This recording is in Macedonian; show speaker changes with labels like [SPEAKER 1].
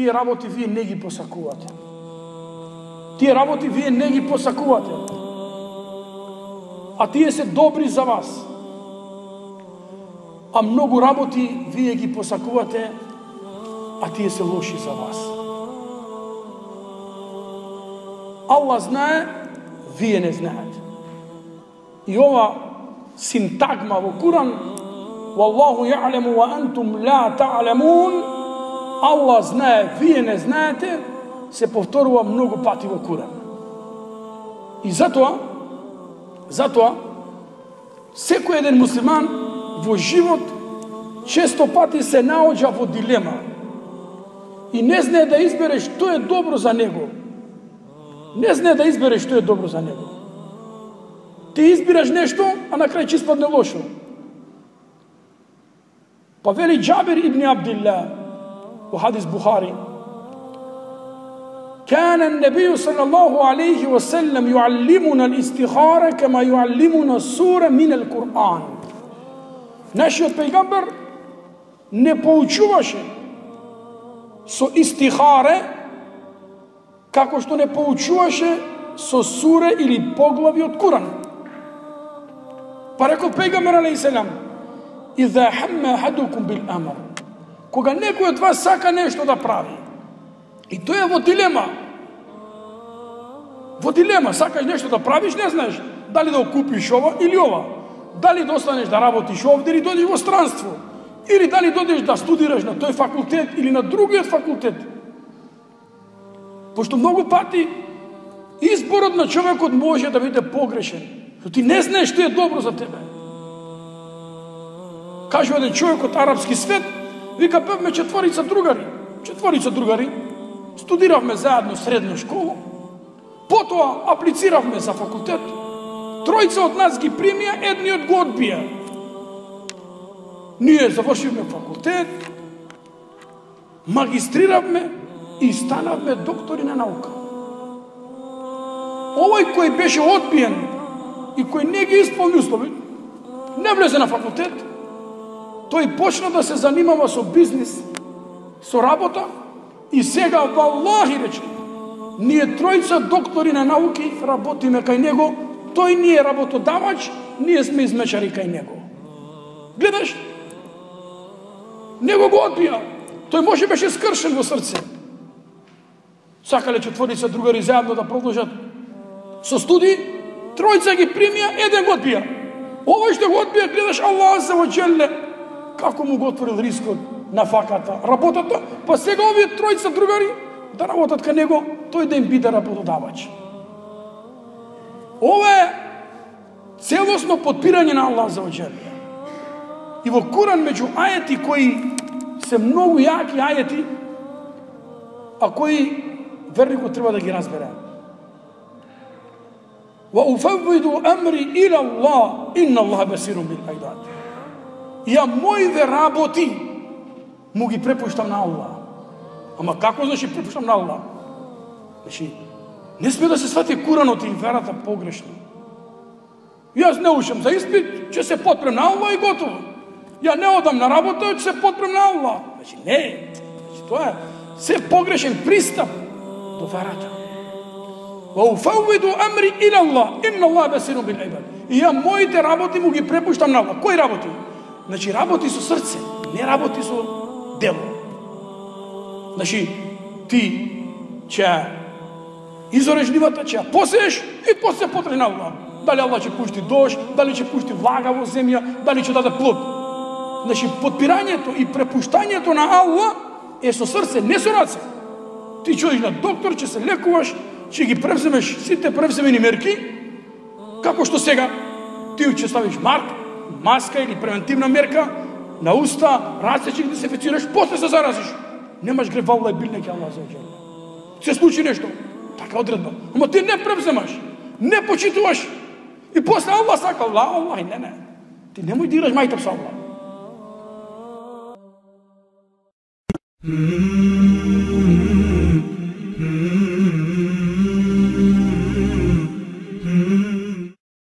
[SPEAKER 1] тие работи вие не ги посакувате. Тие работи вие не ги посакувате. А тие се добри за вас. А многу работи вие ги посакувате, а тие се лоши за вас. Аллах знае, вие не знаете. И ова синтагма во Куран, Wallahu ya'lamu wa antum la ta'lamun, Аллах знае, вие не знаете, се повторува многу пати во Куран. И затоа секој еден муслиман во живот често пати се наоѓа во дилема и не знае да избере што е добро за него. Не знае да избере што е добро за него. Ти избираш нешто, а на крај ќе испадне лошо. Па вели Џабир ибн Абдилlah во хадис Бухари: كان النبي صلى الله عليه وسلم يعلمنا الاستخارة كما يعلمنا السورة من القرآن. Нашиот пејгамбер не поучуваше со истихаре како што не поучуваше со суре или поглави од Куран. Па рекол пејгамбер алейхиселам: إذا هم أحدكم بالأمر, кога некој од вас сака нешто да прави и тој е во дилема, сакаш нешто да правиш, не знаеш дали да купиш ова или ова, дали да останеш да работиш овде или додиш во странство, или дали додиш да студираш на тој факултет или на другиот факултет. Пошто многу пати изборот на човекот може да биде погрешен, што ти не знаеш што е добро за тебе. Кажува еден човек од арапски свет, вика, бевме четворица другари, студиравме заедно средна школа, потоа аплициравме за факултет, тројца од нас ги примија, едниот го одбија. Ние завршивме факултет, магистриравме и станавме доктори на наука. Овој кој беше одбиен и кој не ги исполни услови, не влезе на факултет, тој почна да се занимава со бизнис, со работа и сега, валлахи рече, ние тројца доктори на науки работиме кај него, тој не е работодавач, ние сме измечари кај него. Гледаш? Него го одбија. Тој може беше скршен во срце. Сакале четворица другари заедно да продолжат со студии, тројца ги примија, еден го одбија. Овој што го одбија, гледаш, Аллах азза ва џелле како му го отворил рискот на факата, работата, па сега овие тројца другари да работат кај него, тој да им биде работодавач. Ова е целосно подпирање на Аллах азза ва џелле. И во Куран меѓу ајети кои се многу јаки ајети, а кои верникот треба да ги разбере. Ва уфаввиду амри ила Аллах, инна Аллаха басирун бил ибад. Ја моите работи му ги препуштам на Аллах. Ама како значи препуштам на Аллах? Значи, не сме да се свати Куранот и верата погрешно. Јас не ушам за испит, ќе се потпрем на Аллах и готово. Ја не одам на работа, ќе се потпрем на Аллах. Значи, не. Значи, тоа е се погрешен пристап до верата. Ва уфаввиду амри ила Аллах, инна Аллаха басирун бил ибад. И ја моите работи му ги препуштам на Аллах. Кои работи? Значи, работи со срце, не работи со дело. Значи, ти ќе изореш нивата, ќе ја посееш и после потре на Аллах. Дали Аллах ќе пушти дожд, дали ќе пушти влага во земја, дали ќе даде плод. Значи, подпирањето и препуштањето на Аллах е со срце, не со раце. Ти ќе одиш на доктор, ќе се лекуваш, ќе ги превземеш сите превземени мерки, како што сега ти ќе ставиш маска или превентивна мерка на уста, раце ќе ги дезинфецираш, после се заразиш. Немаш грев, валла и билне ке Аллах азза ва џелле. Се случи нешто, така одредба. Ама ти не превземаш, не почитуваш. И после Аллах сака, Аллах, не. Ти немој да играш мајтап со Аллах.